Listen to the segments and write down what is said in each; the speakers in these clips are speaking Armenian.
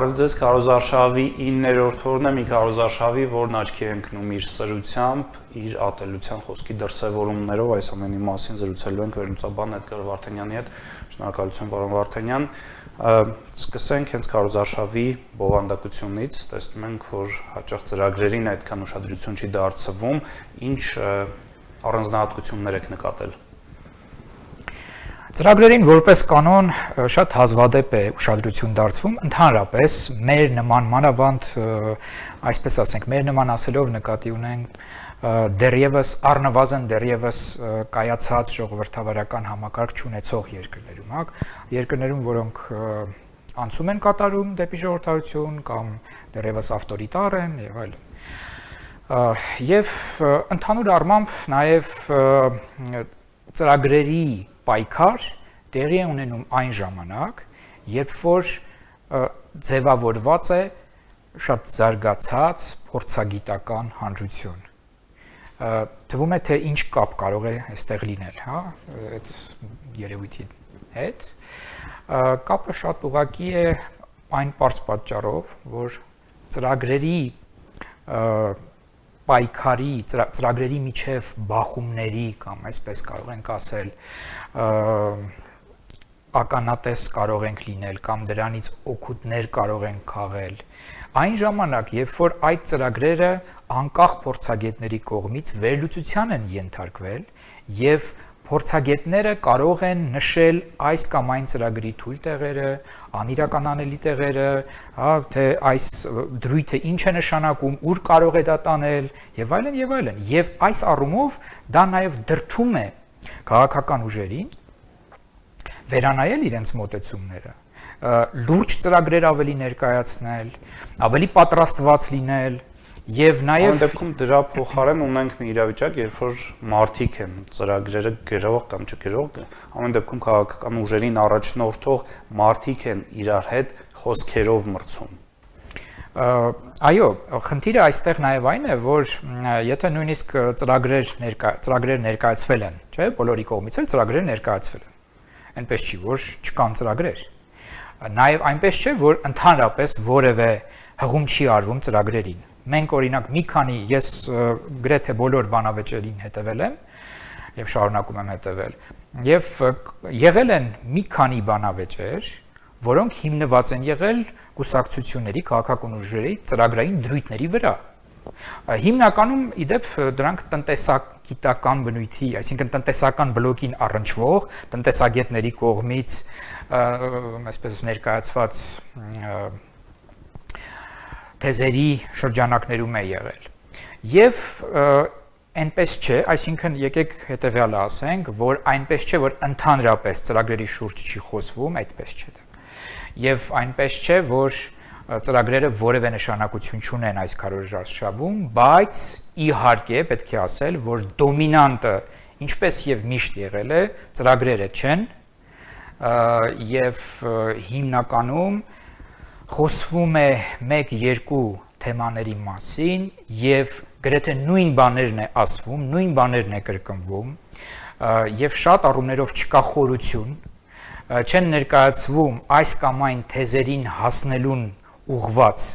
Բարև ձեզ, քարոզարշավի 9-րդ օրն է, մի քարոզարշավի, որն աչքի է ընկնում իր սրությամբ, իր ատելության խոսքի դրսևորումներով, այս ամենի մասին զրուցելու ենք վերլուծաբան Էդգար Վարդանյանի հետ։ Շնորհակալություն, պարոն Վարդանյան։ Սկսենք հենց քարոզարշավի բովանդակությունից, տեսնում ենք, որ հաճախ ծրագրերին այդքան ուշադրություն չի դարձվում, ինչ առանձնահատկություններ եք նկատել։ Ծրագրերին որպես կանոն շատ հազվադեպ է ուշադրություն դարձվում, ընդհանրապես մեր նման մանավանդ, այսպես ասենք, մեր նման ասելով նկատի ունենք դեռևս առնվազն դեռևս կայացած ժողովրդավարական համակարգ չունեցող երկրներում, որոնք անցում են կատարում դեպի ժողովրդավարություն կամ դեռևս ավտորիտար են եւ այլն։ Եվ ընդհանուր առմամբ նաև ծրագրերի պայքար տեղի է ունենում այն ժամանակ, երբ որ ձևավորված է շատ զարգացած փորձագիտական հանրություն։ Թվում է, թե ինչ կապ կարող է այստեղ լինել, հա, այդ երևույթի հետ։ Կապը շատ ուղղակի է այն պարզ պատճառով, որ ծրագրերի պայքարի, ծրագրերի միջև բախումների կամ այսպես կարող ենք ասել ականատես կարող ենք լինել կամ դրանից օգուտներ կարող ենք քաղել այն ժամանակ, երբ որ այդ ծրագրերը անկախ փորձագետների կողմից վերլուծության են ենթարկվել եւ փորձագետները կարող են նշել այս կամ այն ծրագրի թույլ տեղերը, անիրականանելի տեղերը, թե այս դրույթը ինչ է նշանակում, ուր կարող է դա տանել եւ այլն եւ այլն։ Եվ այս առումով դա նաեւ դրդում է քաղաքական ուժերին վերանայել իրենց մոտեցումները, լուրջ ծրագրեր ավելի ներկայացնել, ավելի պատրաստված լինել եւ նաեւ Այն դեպքում դրա փոխարեն ունենք մի իրավիճակ, երբ որ մարդիկ են ծրագրերը գրող կամ չգրող, ամեն դեպքում քաղաքական ուժերին առաջնորդող մարդիկ են իրար հետ խոսքերով մրցում։ Այո, խնդիրը այստեղ նաեւ այն է, որ եթե նույնիսկ ծրագրեր ներկայացվել են, չէ՞, բոլորի կողմից էլ ծրագրեր ներկայացվել են։ Այնպես չի, որ չկան ծրագրեր։ Նաեւ այնպես չէ, որ ընդհանրապես որևէ հղում չի արվում ծրագրերին։ Մենք օրինակ մի քանի ես գրեթե բոլոր բանավեճերին հետևել եմ եւ շարունակում եմ հետևել եւ եղել են մի քանի բանավեճեր, որոնք հիմնված են եղել կուսակցությունների, քաղաքական ուժերի ծրագրային դրույթների վրա։ Հիմնականում իդեպ դրանք տնտեսագիտական բնույթի, այսինքն տնտեսական բլոկին առնչվող տնտեսագետների կողմից այսպես ներկայացված թեզերի շրջանակներում է եղել։ Եվ այնպես չէ, այսինքն եկեք հետևյալը ասենք, որ այնպես չէ, որ ընդհանրապես ծրագրերի շուրջ չի խոսվում, այդպես չէ դա։ Եվ այնպես չէ, որ ծրագրերը որևէ նշանակություն չունեն այս քարոզարշավում, բայց իհարկե պետք է ասել, որ դոմինանտը, ինչպես եւ միշտ եղել է, ծրագրերը չեն, եւ հիմնականում խոսվում է 1-2 թեմաների մասին եւ գրեթե նույն բաներն է ասվում, նույն բաներն է կրկնվում եւ շատ առումներով չկա խորություն, չեն ներկայացվում այս կամ այն թեզերին հասնելուն ուղված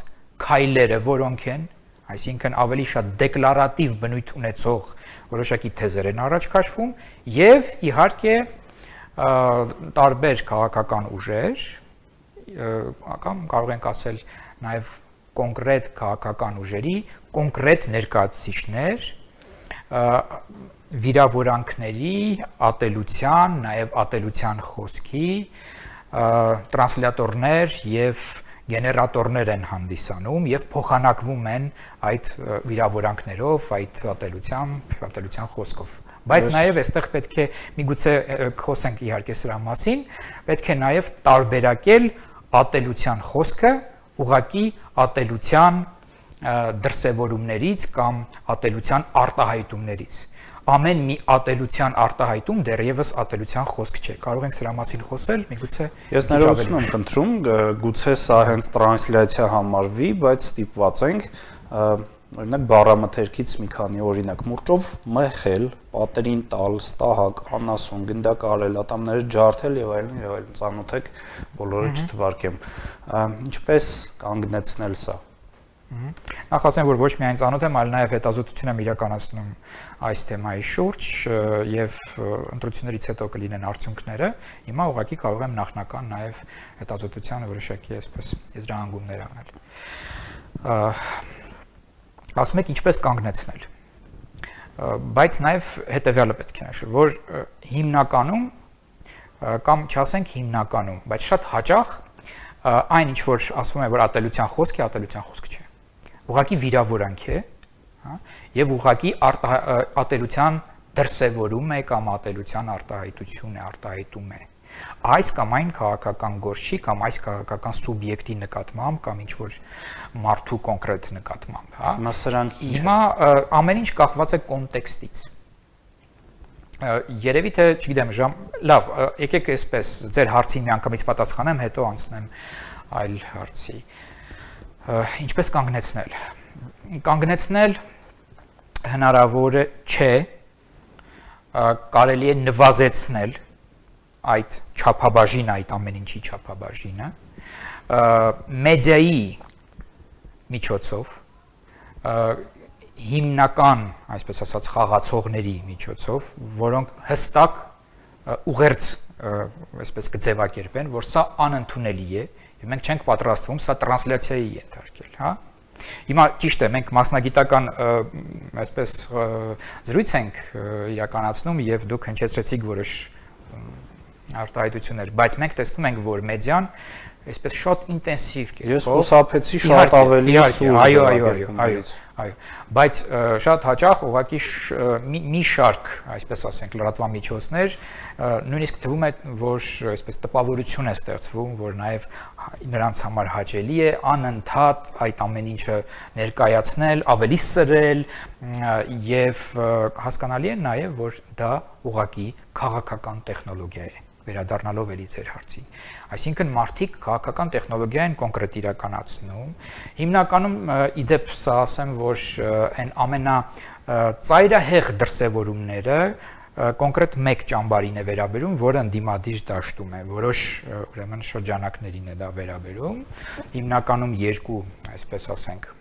քայլերը, որոնք են, այսինքն ավելի շատ դեկլարատիվ բնույթ ունեցող որոշակի թեզեր են առաջ քաշվում եւ իհարկե տարբեր քաղաքական ուժեր կամ կարող ենք ասել նաև կոնկրետ քաղաքական ուժերի, կոնկրետ ներկայացուցիչներ, վիրավորանքների, ատելության, նաև ատելության խոսքի, տրանսլյատորներ եւ գեներատորներ են հանդիսանում եւ փոխանակվում են այդ վիրավորանքներով, այդ ատելության խոսքով։ Բայց նաև այստեղ պետք է միգուցե խոսենք իհարկե սրա մասին, պետք է նաև տարբերակել ատելության խոսքը ուղղակի ատելության դրսևորումներից կամ ատելության արտահայտումներից։ Ամեն մի ատելության արտահայտում դեռևս ատելության խոսք չէ։ Կարող ենք սրա մասին խոսել, միգուցե Ես ներողություն եմ խնդրում, գուցե սա հենց տրանսլյացիա համարվի, բայց ստիպված ենք օրինակ բառամթերքից մի քանի օրինակ մուրճով մխել, պատերին տալ, ստահակ, անասուն, գնդակարել, ատամները ջարդել եւ այլն ծանոթ եք, բոլորը չթվարկեմ։ Ինչպես կանգնեցնել սա։ Նախ ասեմ, որ ոչ միայն ծանոթ եմ, այլ նաև հետազոտություն եմ իրականացնում այս թեմայի շուրջ եւ ընտրություններից հետո կլինեն արդյունքները։ Հիմա ուղղակի կարող եմ նախնական նաև հետազոտության որոշակի այսպես եզրահանգումներ անել։ Ասում եք ինչպես կանգնեցնել։ Բայց նաև հետեւյալը պետք է նշել, որ հիմնականում կամ չասենք հիմնականում, բայց շատ հաճախ այն ինչ որ ասվում է, որ ատելության խոսք է, ատելության խոսք չէ։ Ուղղակի վիրավորանք է, հա, եւ ուղղակի ատելության դրսևորում է կամ ատելության արտահայտություն է, արտահայտում է։ Այս կամ այն քաղաքական գործի կամ այս քաղաքական սուբյեկտի նկատմամբ կամ ինչ որ մարդու կոնկրետ նկատմամբ, հա։ Հիմա սրանք հիմա ամեն ինչ կախված է կոնտեքստից։ Երևի թե, չգիտեմ, լավ, եկեք այսպես ձեր հարցին միանգամից պատասխանեմ, հետո անցնեմ այլ հարցի։ Ինչպես կանգնեցնել։ Կանգնեցնել հնարավոր չէ, կարելի է նվազեցնել այդ չափաբաժինը, այդ ամեն ինչի չափաբաժինը մեդիայի միջոցով, հիմնական, այսպես ասած, խաղացողների միջոցով, որոնք հստակ ուղերձ այսպես կձևակերպեն, որ սա անընդունելի է, եւ մենք չենք պատրաստվում սա տրանսլյացիայի ենթարկել, հա։ Հիմա ճիշտ է, մենք մասնագիտական այսպես զրույց ենք իրականացնում եւ դուք հնչեցրեցիք որոշ արտահայտություններ, բայց մենք տեսնում ենք, որ մեդիան այսպես շատ ինտենսիվ կերպով ես խուսափեցի շատ ավելի սուր այո, բայց շատ հաճախ ուղղակի մի շարք, այսպես ասենք, լրատվամիջոցներ նույնիսկ թվում է, որ այսպես տպավորություն է ստեղծվում, որ նաև նրանց համար հաճելի է անընդհատ այդ ամեն ինչը ներկայացնել, ավելի սրել եւ հասկանալի է նաև, որ դա ուղղակի քաղաքական տեխնոլոգիա է, վերադառնալով էլի ձեր հարցին։ Այսինքն մարդիկ քաղաքական տեխնոլոգիա են կոնկրետ իրականացնում։ Հիմնականում իդեպ սա ասեմ, որ այն ամենածայրահեղ դրսևորումները կոնկրետ մեկ ճամբարին է վերաբերում, որը ընդդիմադիր դաշտում է, որոշ ուրեմն շրջանակներին է դա վերաբերում։ Հիմնականում երկու, այսպես ասենք,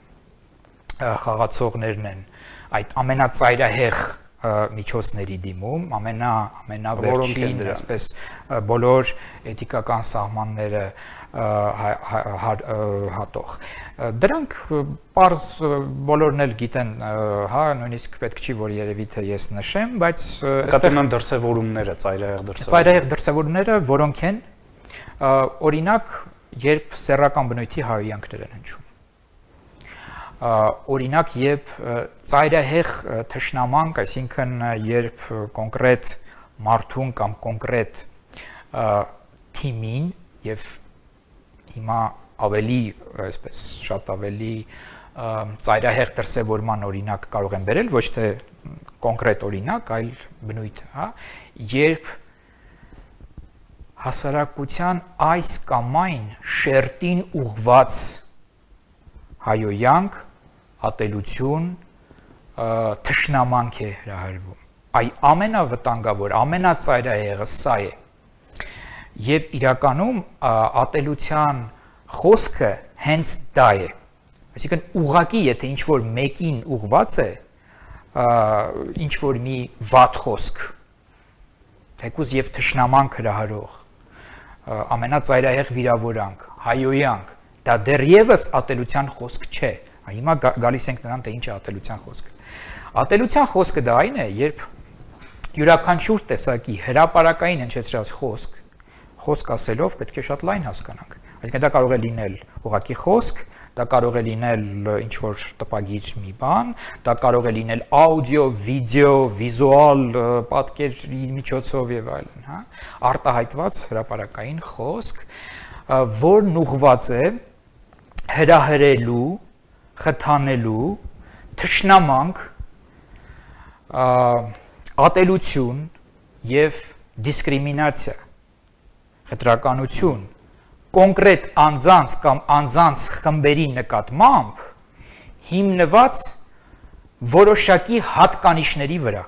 խաղացողներն են այդ ամենածայրահեղ միջոցների դիմում, ամենավերջին, այսպես բոլոր էթիկական սահմանները հատող։ Դրանք պարզ բոլորն էլ գիտեն, հա, նույնիսկ պետք չի, որ երևի թե ես նշեմ, բայց այստեղ են դրսևորումները, ծայրահեղ դրսևորումները, որոնք են օրինակ, երբ սեռական բնույթի հայհոյանքներ են հնչում։ Օրինակ, երբ ծայրահեղ թշնամանք, այսինքն երբ կոնկրետ մարդուն կամ կոնկրետ թիմին եւ հիմա ավելի, այսպես շատ ավելի ծայրահեղ դրսևորման օրինակ կարող եմ բերել, ոչ թե կոնկրետ օրինակ, այլ բնույթ, հա, երբ հասարակության այս կամ այն շերտին ուղված հայոյանք, ատելություն, թշնամանք է հրահրվում։ Այ ամենավտանգավոր, ամենածայրահեղը սա է։ Եվ իրականում ատելության խոսքը հենց դա է։ Այսինքն ուղղակի, եթե ինչ-որ մեկին ուղված է, ինչ-որ մի վատ խոսք, թեկուզ եւ թշնամանք հրահրող, ամենածայրահեղ վիրավորանք, հայոյանք, դա դեռևս ատելության խոսք չէ։ Հիմա գալիս ենք նրան, թե ինչ է ատելության խոսքը։ Ատելության խոսքը դա այն է, երբ յուրաքանչյուր տեսակի հրապարակային հնչեցրած խոսք ասելով պետք է շատ լայն հասկանանք։ Այսինքն դա կարող է լինել ուղղակի խոսք, դա կարող է լինել ինչ-որ տպագիր մի բան, դա կարող է լինել աուդիո, վիդեո, վիզուալ պատկերի միջոցով եւ այլն, հա, արտահայտված հրապարակային խոսք, որն ուղղված է հրահրելու, խթանելու, թշնամանք, ատելություն եւ դիսկրիմինացիա, խտրականություն, կոնկրետ անձանց կամ անձանց խմբերի նկատմամբ հիմնված որոշակի հատկանիշների վրա,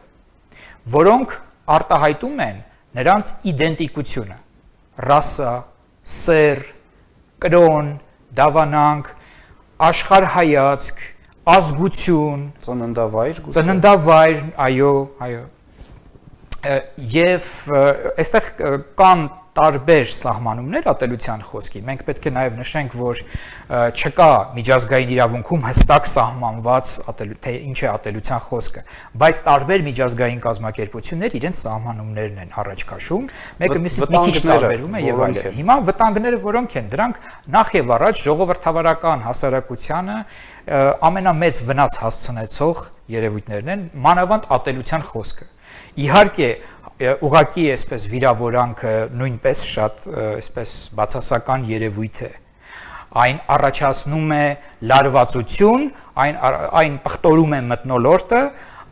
որոնք արտահայտում են նրանց իդենտիկությունը, ռասա, սեր, կրոն, դավանանք, աշխարհայացք, ազգություն, ծննդավայր, այո, եւ այստեղ կան տարբեր սահմանումներ ատելության խոսքի։ Մենք պետք է նաև նշենք, որ չկա միջազգային իրավունքում հստակ սահմանված թե ինչ է ատելության խոսքը, բայց տարբեր միջազգային կազմակերպություններ իրենց սահմանումներն են առաջ քաշում, մեկը մյուսից մի քիչ տարբերում է եւ այլն։ Հիմա վտանգները որոնք են, դրանք նախ եւ առաջ ժողովրդավարական հասարակությանը ամենամեծ վնաս հասցնեցող երևույթներն են, մանավանդ ատելության խոսքը։ Իհարկե ուղղակի այսպես վիրավորանքը նույնպես շատ այսպես բացասական երևույթ է։ Այն առաջացնում է լարվածություն, այն պղտորում է մթնոլորտը,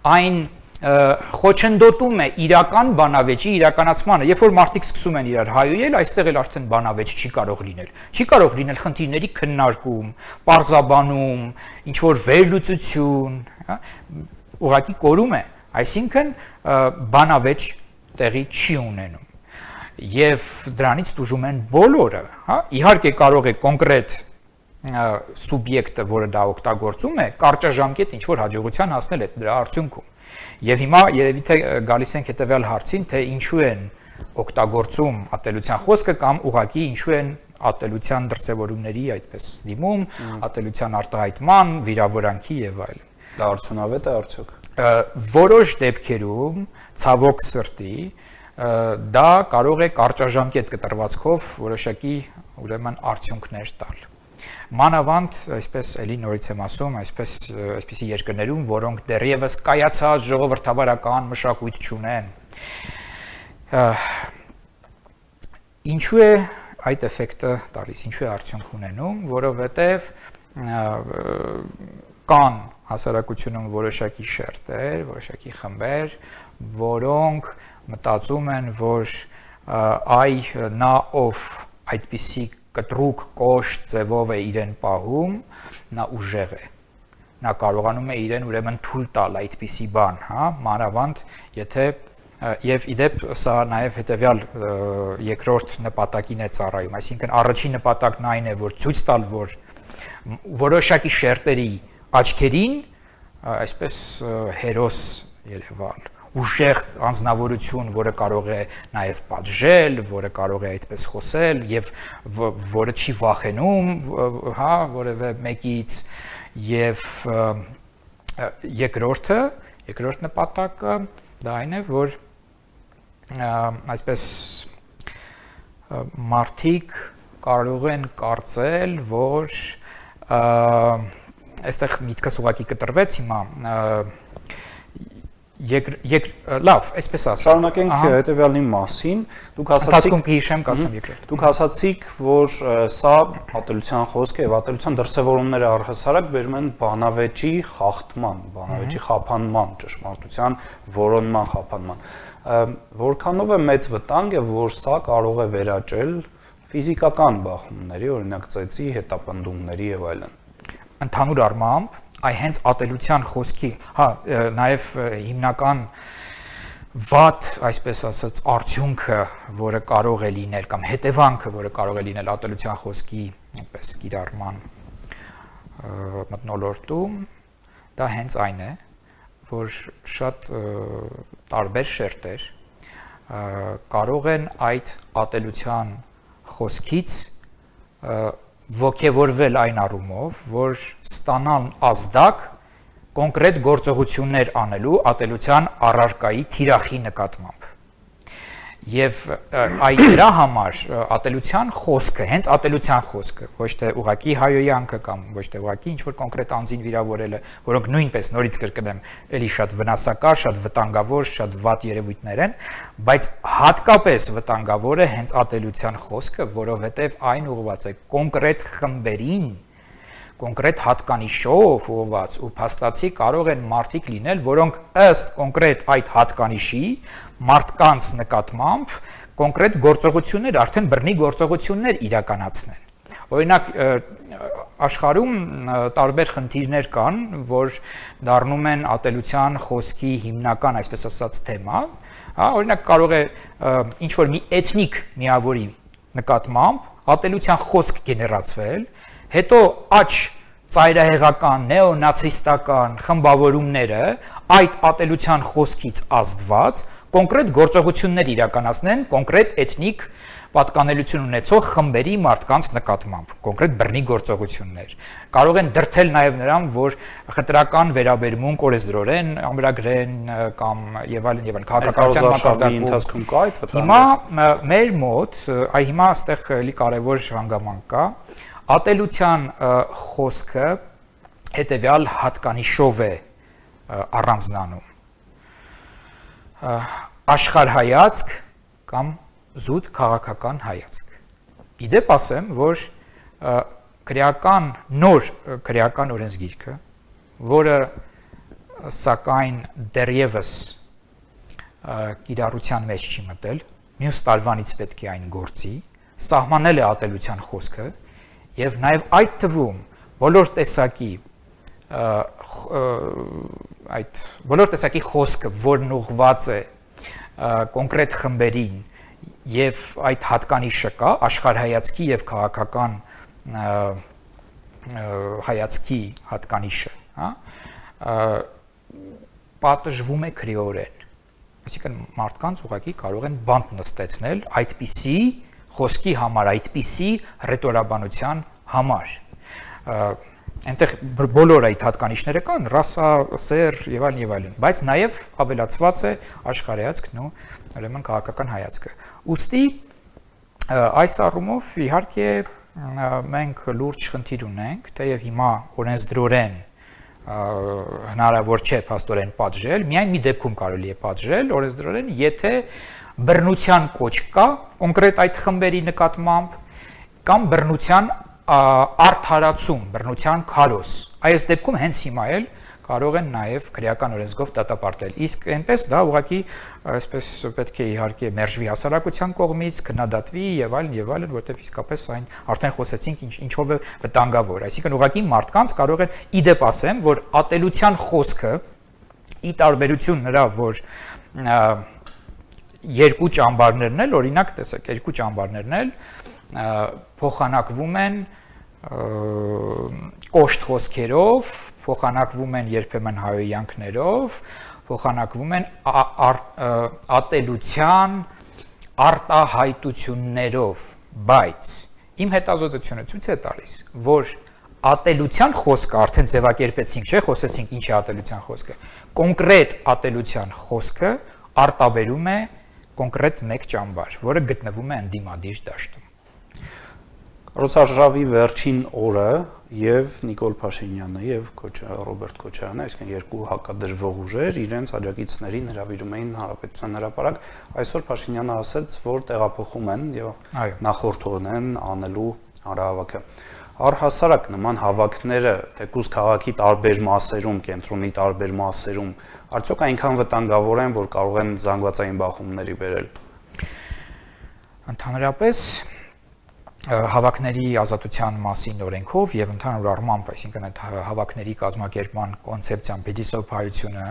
այն խոչընդոտում է իրական բանավեճի իրականացմանը։ Երբ որ մարդիկ սկսում են իրար հայոյել, այստեղ էլ արդեն բանավեճ չի կարող լինել։ Չի կարող լինել խնդիրների քննարկում, պարզաբանում, ինչ որ վերլուծություն, ուղղակի կորում է, այսինքն բանավեճ տեղի չի ունենում եւ դրանից տուժում են բոլորը, հա, իհարկե կարող է կոնկրետ սուբյեկտը, որը դա օգտագործում է, կարճաժամկետ ինչ որ հաջողության հասնել է դրա արդյունքում։ Եվ հիմա երևի թե գալիս ենք հետեւյալ հարցին, թե ինչու են օգտագործում ատելության խոսքը կամ ուղղակի ինչու են ատելության դրսևորումների այդպես դիմում, ատելության արտահայտման, վիրավորանքի եւ այլն։ Դա արդյունավետ է արդյոք։ Որոշ դեպքերում ցավոք սրտի դա կարող է կարճաժամկետ կտրվածքով որոշակի ուրեմն արդյունքներ տալ։ Մանավանդ, այսպես էլի նորից եմ ասում, այսպիսի երկրներում, որոնք դեռևս կայացած ժողովրդավարական մշակույթ չունեն։ Ինչու է այդ էֆեկտը տալիս, ինչու է արդյունք ունենում, որովհետև կան հասարակությունում որոշակի շերտեր, որոշակի խմբեր, որոնք մտածում են, որ նա ով այդպիսի կտրուկ կոշտ ձևով է իրեն պահում, նա ուժեղ է։ Նա կարողանում է իրեն ուրեմն թույլ տալ այդպիսի բան, հա, մանավանդ եթե եւ իդեպ սա նաեւ հետեւյալ երկրորդ նպատակին է ծառայում, այսինքն առաջին նպատակն այն է, որ ցույց տալ, որ որոշակի շերտերի աչքերին այսպես հերոս երևալ, ուժեղ անձնավորություն, որը կարող է նաև պատժել, որը կարող է այդպես խոսել եւ որը չի վախենում, հա, որևէ մեկից եւ երկրորդ նպատակը դա այն է, որ այսպես մարդիկ կարող են կարծել, որ այստեղ միտքս ուղղակի կտրվեց հիմա լավ, այսպես ասեմ։ Շարունակենք հետևյալի մասին։ Դուք ասացիք, որ սա ատելության խոսքը եւ ատելության դրսևորումները առհասարակ բերում են բանավեճի խախտման, բանավեճի խափանման, ճշմարտության որոնման խափանման։ Որքանով է մեծ վտանգ է, որ սա կարող է վերաճել ֆիզիկական բախումների, օրինակ ծեծի, հետապնդումների եւ այլն։ Ընդհանուր առմամբ հենց ատելության խոսքի, հա, նաև հիմնական վատ, այսպես ասած, արդյունքը, որը կարող է լինել կամ հետևանքը, որը կարող է լինել ատելության խոսքի, այնպես կիրառման մթնոլորտում, դա հենց այն է, որ շատ տարբեր շերտեր կարող են այդ ատելության խոսքից ոգևորվել այն առումով, որ ստանան ազդակ կոնկրետ գործողություններ անելու ատելության առարկայի թիրախի նկատմամբ։ Եվ դրա համար ատելության խոսքը, հենց ատելության խոսքը, ոչ թե ուղղակի հայոյանքը կամ ոչ թե ուղղակի ինչ-որ կոնկրետ անձին վիրավորելը, որոնք նույնպես նորից կրկնեմ, էլի շատ վնասակար, շատ վտանգավոր, շատ վատ երևույթներ են, բայց հատկապես վտանգավոր է հենց ատելության խոսքը, որովհետև այն ուղղված է կոնկրետ խմբերին, կոնկրետ հատկանիշով ուղղված ու փաստացի կարող են մարդիկ լինել, որոնք ըստ կոնկրետ այդ հատկանիշի մարդկանց նկատմամբ կոնկրետ գործողություններ, արդեն բռնի գործողություններ իրականացնեն։ Օրինակ աշխարհում տարբեր խնդիրներ կան, որ դառնում են ատելության խոսքի հիմնական, այսպես ասած, թեմա, հա, օրինակ կարող է ինչ որ մի էթնիկ միավորի նկատմամբ ատելության խոսք գեներացվել, հետո աճ ծայրահեղական, նեոնացիստական խմբավորումները այդ ատելության խոսքից ազդված կոնկրետ գործողություններ իրականացնեն կոնկրետ էթնիկ պատկանելություն ունեցող խմբերի մարդկանց նկատմամբ, կոնկրետ բռնի գործողություններ։ Կարող են դրթել նաև նրան, որ խտրական վերաբերմունք օրենսդրորեն ամրագրեն կամ եւ այլն քաղաքականության մակարդակի ընթացքում կա այդ վտանգը։ Հիմա մեր մոտ, հիմա այստեղ էլի կարևոր հանգամանք կա, ատելության խոսքը հետեւյալ հատկանիշով է առանձնանում։ Աշխարհայացք կամ զուտ քաղաքական հայացք։ Իդեպ ասեմ, որ նոր քրեական օրենսգիրքը, որը սակայն դեռևս կիրառության մեջ չի մտել, մյուս տարվանից պետք է այն գործի, սահմանել է ատելության խոսքը եւ նաեւ այդ թվում բոլոր տեսակի խոսքը, որն ուղղված է կոնկրետ խմբերին եւ այդ հատկանիշը կա աշխարհայացքի եւ քաղաքական հայացքի հատկանիշը, հա, պատժվում է քրեորեն։ Այսինքն մարդկանց ուղղակի կարող են բանտ նստեցնել այդպիսի խոսքի համար, այդպիսի ռետորաբանության համար։ Այնտեղ բոլոր այդ հատկանիշները կան, ռասա, սեր եւ այլն, բայց նաեւ ավելացված է աշխարհայացքն ու ուրեմն քաղաքական հայացքը։ Ուստի այս առումով իհարկե մենք լուրջ խնդիր ունենք, թեև հիմա օրենսդրորեն հնարավոր չէ փաստորեն պատժել, միայն մի դեպքում կարելի է պատժել օրենսդրորեն, եթե բռնության կոչ կա կոնկրետ այդ խմբերի նկատմամբ կամ բռնության արդարացում, բռնության քարոզ։ Այս դեպքում հենց հիմա էլ կարող են նաև քրեական օրենսգով դատապարտել։ Իսկ այնպես դա ուղղակի այսպես պետք է իհարկե մերժվի հասարակության կողմից, քննադատվի եւ այլն, որտեղ իսկապես այն արդեն խոսեցինք ինչով է վտանգավոր։ Այսինքն ուղղակի մարդկանց կարող են իդեպ ասեմ, որ ատելության խոսքը ի տարբերություն նրա, որ երկու ճամբարներն էլ, օրինակ տեսեք, երկու ճամբարներն էլ փոխանակվում են կոշտ խոսքերով, փոխանակվում են երբեմն հայոյանքներով, փոխանակվում են ատելության արտահայտություններով, բայց իմ հետազոտությունը ցույց է տալիս, որ ատելության խոսքը արդեն ձևակերպեցինք, չէ՞, խոսեցինք ինչ է ատելության խոսքը։ Կոնկրետ ատելության խոսքը արտաբերում է կոնկրետ մեկ ճամբար, որը գտնվում է ընդդիմադիր դաշտում։ Կառուցարշավի վերջին օրը եւ Նիկոլ Փաշինյանը եւ Ռոբերտ Քոչարյանը, այսինքն երկու հակադրվող ուժեր, իրենց աջակիցներին հրավիրում էին Հանրապետության հրապարակ։ Այսօր Փաշինյանը ասաց, որ տեղափոխում են եւ նախորդողն են անելու հանրահավաքը։ Առհասարակ նման հավաքները թեկուզ քաղաքի տարբեր մասերում, կենտրոնի տարբեր մասերում, արդյոք այնքան վտանգավոր են, որ կարող են զանգվածային բախումների բերել։ Ընդհանրապես հավաքների ազատության մասին օրենքով եւ ընդհանուր առմամբ, այսինքն այդ հավաքների կազմակերպման կոնցեպցիան փիլիսոփայությունը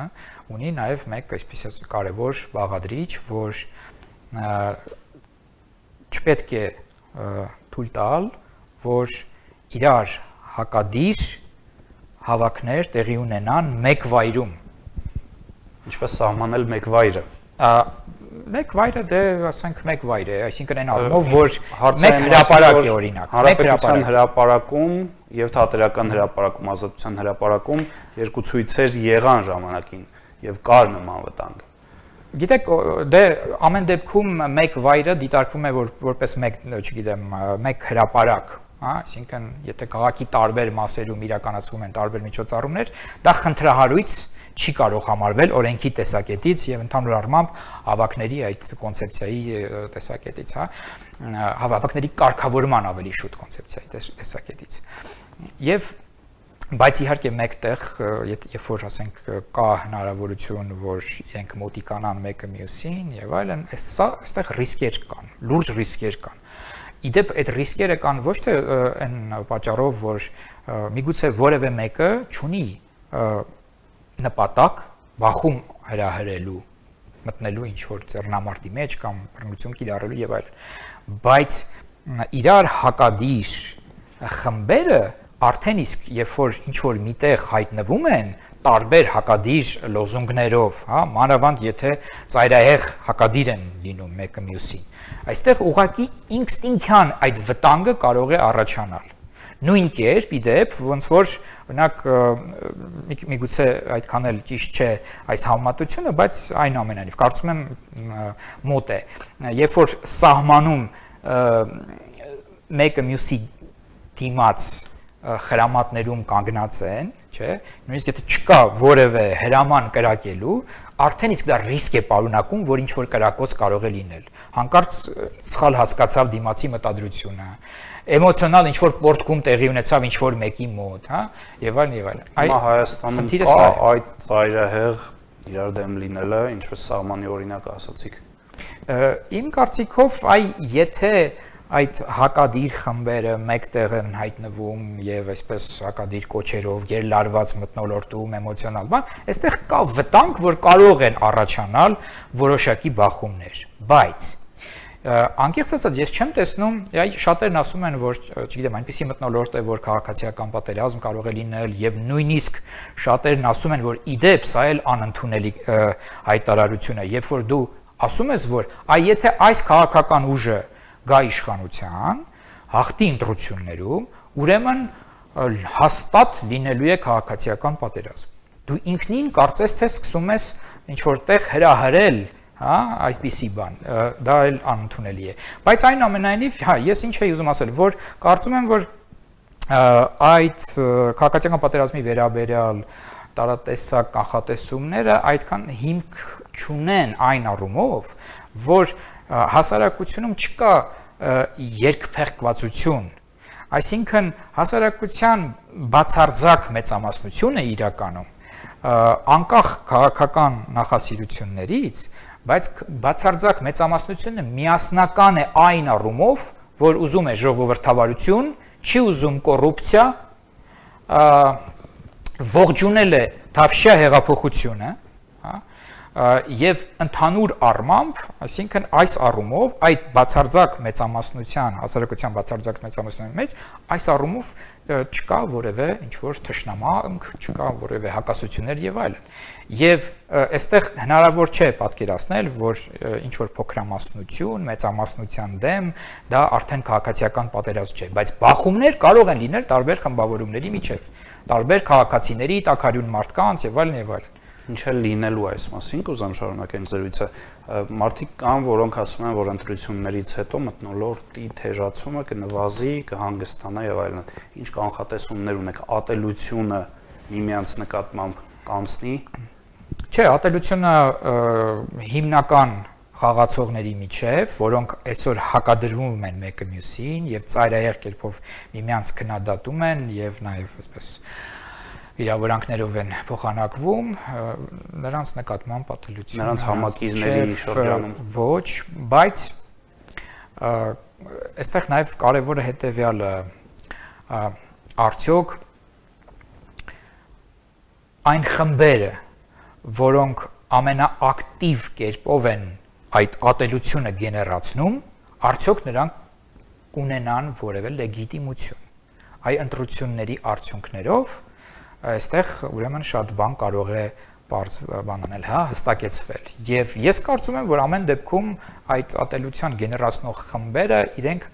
ունի նաեւ մեկ այսպես կարևոր բաղադրիչ, որ չպետք է թույլ տալ, որ իրար հակադիր հավաքներ տեղի ունենան մեկ վայրում։ Ինչպես սահմանել մեկ վայրը։ Մեկ վայրը դե ասենք մեկ վայր է, այսինքն այն առումով, որ մեկ հրապարակ է օրինակ, մեկ հրապարակ հրապարակում եւ թատերական հրապարակում, ազատության հրապարակում երկու ցույցեր եղան ժամանակին եւ կար նման վտանգ։ Գիտեք, դե ամեն դեպքում մեկ վայրը դիտարկվում է որպես մեկ, չգիտեմ, մեկ հրապարակ, հա, այսինքն եթե քաղաքի տարբեր մասերում իրականացվում են տարբեր միջոցառումներ, դա խնդրահարույց չի կարող համարվել օրենքի տեսակետից եւ ընդհանուր առմամբ հավաքների այդ կոնցեպցիայի տեսակետից, հա, հավաքների կարգավորման ավելի շուտ կոնցեպցիայի տեսակետից։ Եւ բայց իհարկե մեկտեղ, երբ որ ասենք կա հնարավորություն, որ իրենք մոտիկանան մեկը մյուսին եւ այլն, այստեղ ռիսկեր կան, լուրջ ռիսկեր կան։ Իդեպ այդ ռիսկերը կան ոչ թե այն պատճառով, որ միգուցե որևէ մեկը չունի նպատակ բախում հրահրելու, մտնելու ինչ որ ձեռնամարտի մեջ կամ բռնություն կիրառելու եւ այլն, բայց իրար հակադիր խմբերը արդեն իսկ երբ որ ինչ որ միտեղ հայտնվում են տարբեր հակադիր լոզունգներով, հա, մանավանդ եթե ծայրահեղ հակադիր են լինում մեկը մյուսին, այստեղ ուղղակի ինստինկտյան այդ վտանգը կարող է առաջանալ։ Նույն կերպ իդեպ ոնց որ օրինակ միգուցե այդքան էլ ճիշտ չէ այս համեմատությունը, բայց այնուամենայնիվ կարծում եմ մոտ է, երբ որ սահմանում մեկը մյուսի դիմաց խրամատներում կանգնած են, չէ, նույնիսկ եթե չկա որևէ հրաման կրակելու, արդեն իսկ դա ռիսկ է պարունակում, որ ինչ որ կրակոց կարող է լինել։ Հանկարծ սխալ հասկացավ դիմացի մտադրությունը, էմոցիոնալ ինչ որ պորտկում տեղի ունեցավ ինչ որ մեկի մոտ, հա, եւ այլն եւ այլն։ Հիմա Հայաստանում կա այդ ծայրահեղ իրար դեմ լինելը, ինչպես սահմանի օրինակ ասացիք։ Իմ կարծիքով, եթե այդ հակադիր խմբերը մեկտեղ են հայտնվում եւ այսպես հակադիր կոչերով գերլարված մթնոլորտում էմոցիոնալ բան, այստեղ կա վտանգ, որ կարող են առաջանալ որոշակի բախումներ, բայց անկեղծ ասած ես չեմ տեսնում, շատերն ասում են, որ չգիտեմ, այնպիսի մթնոլորտ է, որ քաղաքացիական պատերազմ կարող է լինել եւ նույնիսկ շատերն ասում են, որ իդեպ սա էլ անընդունելի հայտարարություն է, երբ որ դու ասում ես, որ եթե այս քաղաքական ուժը գա իշխանության, հաղթի ընտրություններում, ուրեմն հաստատ լինելու է քաղաքացիական պատերազմ։ Դու ինքնին կարծես թե սկսում ես ինչ որտեղ հրահրել, հա, այսպիսի բան, դա էլ անընդունելի է։ Բայց այնուամենայնիվ, հա, ես ինչ էի ուզում ասել, որ կարծում եմ, որ այդ քաղաքացիական պատերազմի վերաբերյալ տարատեսակ կանխատեսումները այդքան հիմք չունեն այն առումով, որ հասարակությունում չկա երկփեղկվածություն, այսինքն հասարակության բացարձակ մեծամասնությունը իրականում անկախ քաղաքական նախասիրություններից, բայց բացարձակ մեծամասնությունը միասնական է այն առումով, որ ուզում է ժողովրդավարություն, չի ուզում կոռուպցիա, ողջունել է թավշյա հեղափոխությունը, եւ ընդհանուր առմամբ, այսինքն այս առումով այդ բացարձակ մեծամասնության, հասարակության բացարձակ մեծամասնության մեջ այս առումով չկա որևէ ինչ որ թշնամանք, չկա որևէ հակասություններ եւ այլն։ Եվ այստեղ հնարավոր չէ պատկերացնել, որ ինչ որ փոքրամասնություն, մեծամասնության դեմ դա արդեն քաղաքացիական պատերազմ չէ, բայց բախումներ կարող են լինել տարբեր խմբավորումների միջև, տարբեր քաղաքացիների, տաքարյուն մարդկանց եւ այլն եւ այլն։ Ինչ է լինելու այս մասին, կուզեմ շարունակել զրույցը։ Մարդիկ կան, որոնք ասում են, որ ընտրություններից հետո մթնոլորտի թեժացումը կնվազի, կհանգստանա եւ այլն։ Ինչ կանխատեսումներ ունեք, ատելությունը միմյանց նկատմամբ կանցնի։ Չէ, ատելությունը հիմնական խաղացողների միջև, որոնք այսօր հակադրվում են մեկը մյուսին եւ ծայրահեղ կերպով միմյանց քննադատում են եւ նաեւ այսպես իրավունքներով են փոխանակվում, նրանց նկատմամբ պատելություն, նրանց համակիրների շրջանում ոչ, բայց այստեղ նաև կարևորը հետևյալը, արդյոք այն խմբերը, որոնք ամենաակտիվ կերպով են այդ ատելությունը գեներացնում, արդյոք նրանք կունենան որևէ լեգիտիմություն։ Այ ընտրությունների արդյունքներով այստեղ ուրեմն շատ բան կարող է բանանել, հա, հստակեցվել։ Եվ ես կարծում եմ, որ ամեն դեպքում այդ ատելության գեներացնող խմբերը իրենք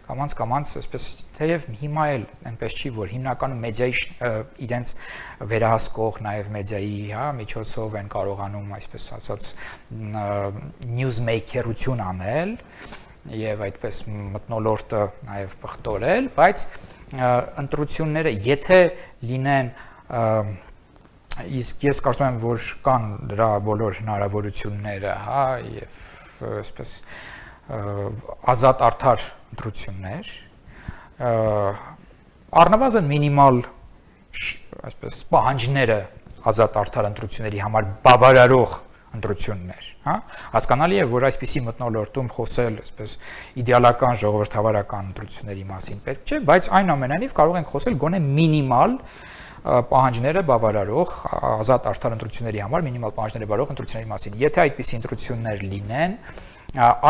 կամաց այսպես թեև հիմա էլ այնպես չի, որ հիմնականում մեդիայի իրենց վերահսկող նաև մեդիայի, հա, միջոցով են կարողանում այսպես ասած նյուզմեյքերություն անել եւ այդպես մթնոլորտը նաև պղտորել, բայց ընտրությունները եթե լինեն իսկ ես կարծում եմ, որ կան դրա բոլոր հնարավորությունները, հա, եւ այսպես ազատ արդար ընտրություններ, առնվազն մինիմալ այսպես պահանջները ազատ արդար ընտրությունների համար բավարարող ընտրություններ, հա։ Հասկանալի է, որ այսպիսի մթնոլորտում խոսել, այսպես իդեալական ժողովրդավարական ընտրությունների մասին պետք չէ, բայց այնուամենայնիվ կարող ենք խոսել գոնե մինիմալ պահանջները բավարարող ազատ արդար ընտրությունների համար մինիմալ պահանջները բավարարող ընտրությունների մասին։ Եթե այդպիսի ընտրություններ լինեն,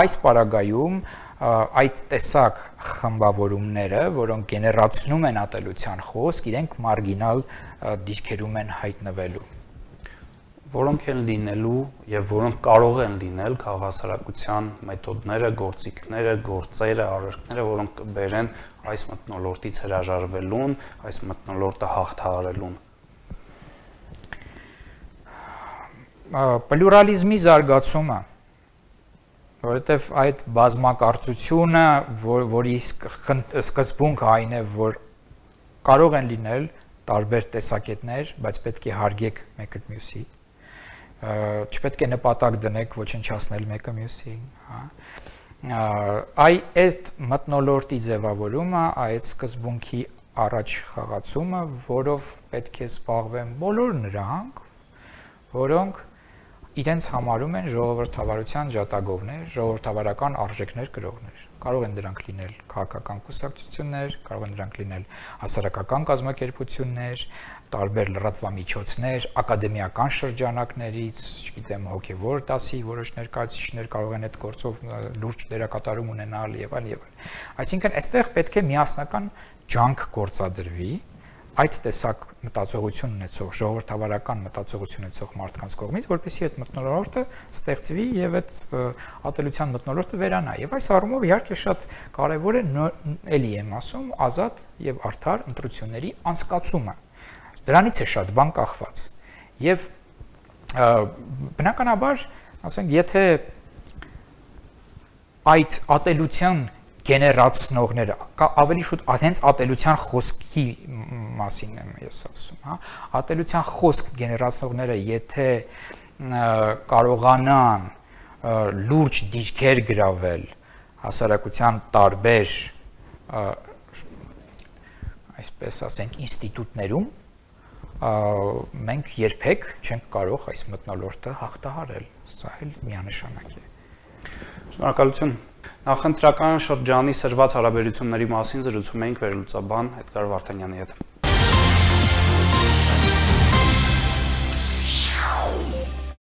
այս պարագայում այդ տեսակ խմբավորումները, որոնք գեներացնում են ատելության խոսք, իրենք մարգինալ դիրքերում են հայտնվելու։ Որոնք են լինելու եւ որոնք կարող են լինել քաղաքասարակության մեթոդները, գործիքները, գործերը, արարքները, որոնք կբերեն այս մթնոլորտից հրաժարվելուն, այս մթնոլորտը հաղթահարելուն։ Պլյուրալիզմի զարգացումը, որովհետեւ այդ բազմակարծությունը, որի սկզբունքը այն է, որ կարող են լինել տարբեր տեսակետներ, բայց պետք է հարգեք մեկը մյուսի, չպետք է նպատակ դնեք ոչնչացնել մեկը մյուսին, հա։ Այդ մթնոլորտի ձևավորումը, այդ սկզբունքի առաջ խաղացումը, որով պետք է զբաղվեն բոլոր նրանք, որոնք իրենց համարում են ժողովրդավարության ջատագովներ, ժողովրդավարական արժեքներ կրողներ։ Կարող են դրանք լինել քաղաքական կուսակցություններ, կարող են դրանք լինել հասարակական կազմակերպություններ, տարբեր լրատվամիջոցներ, ակադեմիական շրջանակներից, չգիտեմ, հոգևոր դասի որոշ ներկայացուցիչներ կարող են այդ գործով լուրջ դերակատարում ունենալ եւ այլն եւ այլն։ Այսինքն, այստեղ պետք է միասնական ջանք գործադրվի այդ տեսակ մտածողություն ունեցող, ժողովրդավարական մտածողություն ունեցող մարդկանց կողմից, որպեսզի այդ մթնոլորտը ստեղծվի եւ այդ ատելության մթնոլորտը վերանա։ Եվ այս առումով իհարկե շատ կարեւոր է էլի եմ ասում, ազատ եւ արդար ընտրությունների անցկացումը։ Դրանից է շատ բան կախված։ Եվ բնականաբար, ասենք, եթե այդ ատելության գեներացնողները, ավելի շուտ հենց ատելության խոսքի մասին եմ ես ասում, հա, ատելության խոսք գեներացնողները, եթե կարողանան լուրջ դիրքեր գրավել հասարակության տարբեր, այսպես ասենք, ինստիտուտներում, մենք երբեք չենք կարող այս մթնոլորտը հաղթահարել, սա էլ միանշանակ է։ Շնորհակալություն։ Նախընտրական շրջանի սրված հարաբերությունների մասին զրուցում էինք վերլուծաբան Էդգար Վարդանյանի հետ։